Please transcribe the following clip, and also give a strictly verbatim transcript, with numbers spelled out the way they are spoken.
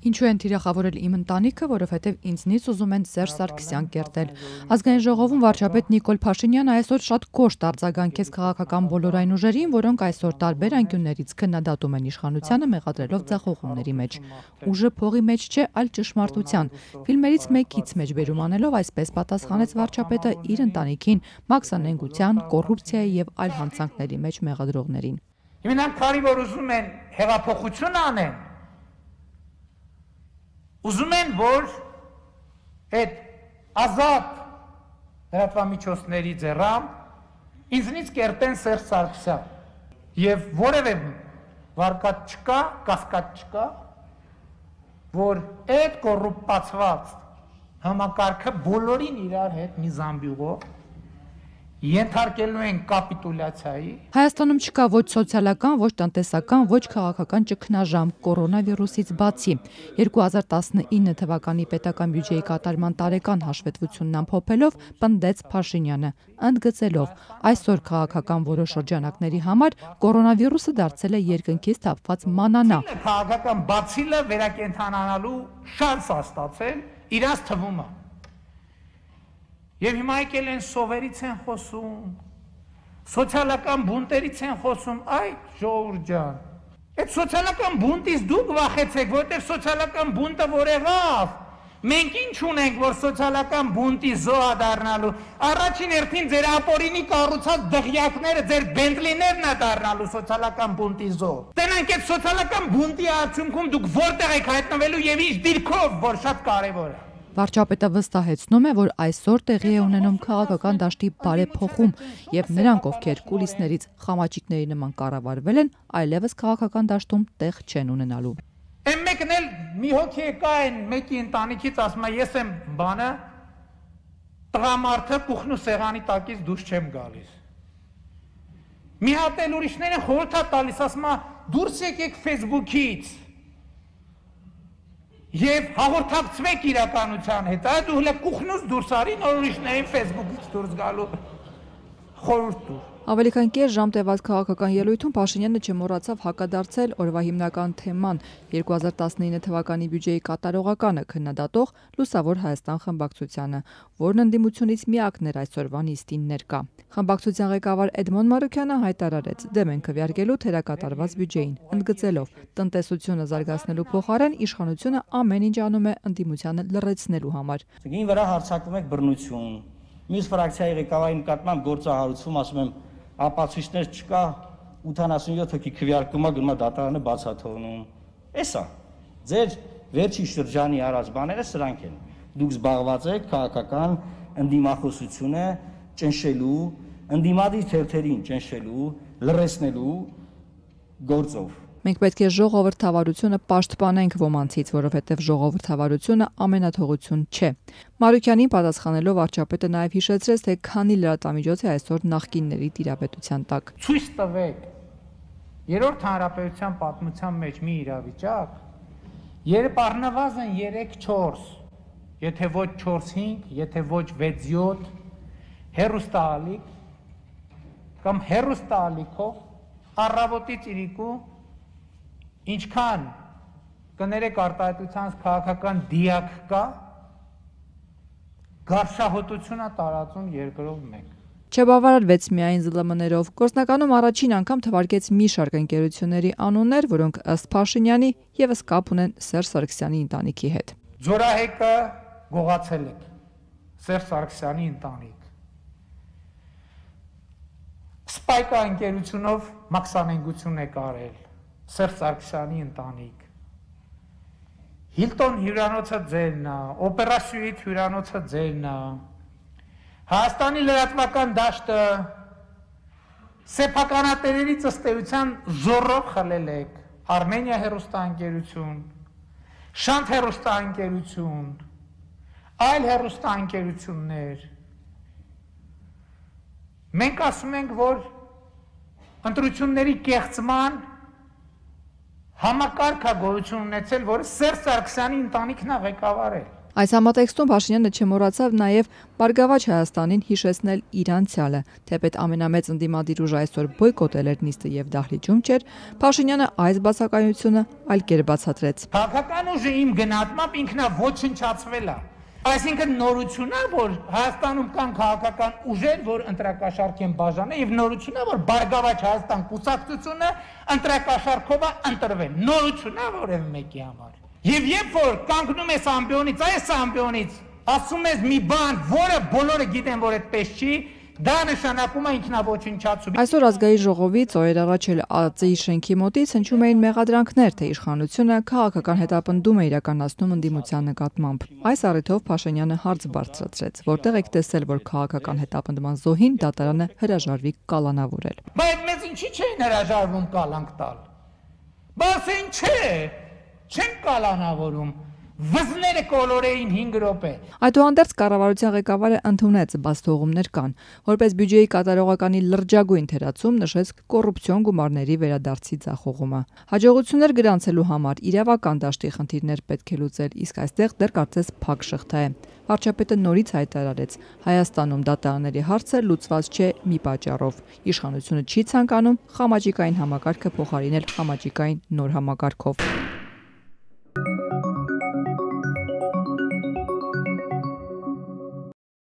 Ինչու են թիրախավորել իմ ընտանիքը, որովհետև ինձնից ուզում են Սերժ Սարգսյան կերտել։ Ազգային ժողովում վարչապետ Նիկոլ Փաշինյանը այսօր շատ կոշտ արձագանքեց քաղաքական բոլոր այն ուժերին, որոնք այսօր տարբեր անկյուններից քննադատում են իշխանությանը, մեղադրելով ձախողումների մեջ։ Ուժը փողի մեջ չէ, այլ ճշմարտության։ Ֆիլմերից մեկից մեջբերում անելով այսպես պատասխանեց վարչապետը իր ընտանիքին, մաքսանենգության, կոռուպցիայի եւ այլ հանցանքների մեջ մեղադրողներին։ Իմանալ քարի որ ուզում են հեղափոխություն անեն, ուզում են, որ այդ ազատ լրատվամիջոցների ձեռամբ ինձնից կերտեն Սերժ Սարգսյան եւ որևէ վարկած չկա, կասկած չկա, որ այդ կոռուպացված համակարգը բոլորին իրար հետ մի զամբյուղով ենթարկելու են կապիտուլյացիայի։ Հայաստանում չկա ոչ սոցիալական, ոչ տնտեսական, ոչ քաղաքական ճգնաժամ կորոնավիրուսից բացի։ երկու հազար տասնինը թվականի պետական բյուջեի կատարման տարեկան հաշվետվությունն ամփոփելով պնդեց Փաշինյանը, ընդգծելով այսօր քաղաքական որոշ շրջանակների համար կորոնավիրուսը դարձել է երկնքից թափված մանանա։ Քաղաքական բացիլը վերակենդանանալու շանս է ստացել իրաց թվում է։ Եվ հիմա եկել են սովերից են խոսում, սոցիալական բունտերից են խոսում, այ ժողովուրդ ջան, այդ սոցիալական բունտից դուք վախեցեք, որտեղ սոցիալական բունտը որ եղավ, մենք ինչ ունենք, որ սոցիալական բունտի զոհ դառնալու, առաջին հերթին ձեր ապօրինի կառուցած դղյակները, ձեր բենտլիներն է դառնալու սոցիալական բունտի զոհ։ Տենանք այդ սոցիալական բունտի արդյունքում դուք որտեղ եք հայտնվելու եւ ինչ դիրքով, որ շատ կարեւոր է։ Վարչապետը վստահեցնում է, որ այսօր տեղի է ունենում քաղաքական դաշտի բարեփոխում եւ նրանք, ովքեր կուլիսներից խամաճիկների նման կառավարվել են, այլևս քաղաքական դաշտում տեղ չեն ունենալու։ Այն մեկն էլ մի հոգի եկա այն մեկի ընտանիքից ասում է, ես եմ բանը տղամարդը կուխնու սեղանի տակից դուրս չեմ գալիս։ Մի հատ էլ ուրիշները խորհուրդ է տալիս, ասում է դուրս եկեք Facebook-ից։ Եվ հաղորդակցվեք իրականության հետ, այդ ու հլը կուխնուց դուրս արի, նոր ուրիշներին Facebook-ից դուրս գալու խորհուրդ տուր։ Ավելի քան կես ժամ տևած քաղաքական ելույթում Փաշինյանը չմոռացավ հակադարձել օրվա հիմնական թեման երկու հազար տասնինը թվականի բյուջեի կատարողականը քննադատող Լուսավոր Հայաստան խմբակցությանը, որն ընդդիմությունից միակն էր այսօրվա նիստին ներկա։ Խմբակցության ղեկավար Էդմոն Մարուքյանը հայտարարեց դեմ են քվեարկելու թերակատարված բյուջեին, ընդգծելով տնտեսությունը զարգացնելու փոխարեն իշխանությունը ամեն ինչ անում է ընդդիմությանը լռեցնելու համար։ Գին վրա հարձակվում եք բռնություն, մյուս ֆրակցիայի ղեկավարի նկատմամբ գործահարություն, ասում եմ ապացույցներ չկա, ութանասունյոթ հոգի քվեարկումա գնում է դատարանը բացաթողնում։ Էսա ձեր վերջի շրջանի արած բաները սրանք են։ Դուք զբաղված եք քաղաքական ընդդիմախոսությունը ճնշելու, ընդդիմադիր թերթերին ճնշելու, լռեցնելու գործով։ Մենք պետք է ժողովրդավարությունը պաշտպանենք ոմանցից, որովհետև ժողովրդավարությունը ամենաթողություն չէ։ Մարուքյանին պատասխանելով վարչապետը նաև հիշեցրեց, թե քանի լրատվամիջոց է այսօր նախկինների տիրապետության տակ։ Ցույց տվեք երրորդ հանրապետության պատմության մեջ մի իրավիճակ, երբ առնվազն երեք չորս, եթե ոչ չորս հինգ, եթե ոչ վեց յոթ հերոստալիկ կամ հերոստալիկով առավոտից իրիկու ինչքան կներեք արտահայտության քաղաքական դիակ կա, գարշահոտությունը տարածում երկրով մեկ։ Չբավարարվեց միայն զլ էմ էներով, գործնականում առաջին անգամ թվարկեց մի շարք ընկերությունների անուններ, որոնք ըստ Փաշինյանի ևս կապ ունեն Սերժ Սարգսյանի ընտանիքի հետ։ Ձորահեկը գողացել եք, Սերժ Սարգսյանի ընտանիք։ Սպայկա ընկերությունով մաքսանենգություն եք արել, Սերժ Սարգսյանի ընտանիք։ Հիլտոն հյուրանոցը ձերն է, Օպերա Սյուիթ հյուրանոցը ձերն է։ Հայաստանի լրատվական դաշտը սեփականատերերի ծստեության զորով խլել եք։ Արմենիա հեռուստաընկերություն, Շանթ հեռուստաընկերություն, այլ հեռուստաընկերություններ։ Մենք ասում ենք, որ ընտրությունների կեղծման համակարգ է գոյություն ունեցել, որը Սերժ Սարգսյանի ընտանիքն է ղեկավարել։ Այս համատեքստում Փաշինյանը չմոռացավ նաև Բարգավաճ Հայաստանին հիշեցնել իր անցյալը, թեպետ ամենամեծ ընդդիմադիր ուժը այսօր բոյկոտել էր նիստը եւ դահլիճում չէր, Փաշինյանը այս բացակայությունը այլ կերպ բացատրեց։ Քաղաքական ուժը իմ գնահատմամբ ինքնա ոչնչացվել է։ Այսինքն նորությունն է, որ Հայաստանում կան քաղաքական ուժեր, որ ընտրակաշառք են բաժանել, եւ նորությունն է, որ Բարգավաճ Հայաստան կուսակցությունը ընտրակաշառքով է ընտրվել։ Նորությունն է որևէ մեկի համար։ Եվ երբ որ կանգնում ես ամբիոնից, այս ամբիոնից ասում ես մի բան, որը բոլորը գիտեն, որ այդպես չի, դա նշանակում է ինքնաոչնչացում։ Այսօր ազգային ժողովից օրեր առաջ էլ ԱԾ-ի շենքի մոտից հնչում էին մեղադրանքներ, թե իշխանությունը քաղաքական հետապնդում է իրականացնում ընդդիմության նկատմամբ։ Այս առիթով Փաշինյանը հարց բարձրացրեց, որտեղ եք տեսել, որ քաղաքական հետապնդման զոհին դատարանը հրաժարվի կալանավորել։ Բայց մեզ ինչի չէին հրաժարվում կալանք տալ։ Բայց ինչ չէ, չեն կալանավորում։ Վզները կոլորեին հինգ րոպե։ Այդուհանդերձ կառավարության ղեկավարը ընդունեց բաց թողումներ կան, որպես բյուջեի կատարողականի լրջագույն թերացում նշեց կոռուպցիոն գումարների վերադարձի ձախողումը։ Հաջողություններ գրանցելու համար իրավական դաշտի խնդիրներ պետք է լուծել, իսկ այստեղ դեռ կարծես փակ շղթա է։ Վարչապետը նորից հայտարարեց. Հայաստանում դատարանների հարցը լուծված չէ մի պատճառով։ Իշխանությունը չի ցանկանում խամաճիկային համակարգը փոխարինել խամաճիկային նոր համակարգով։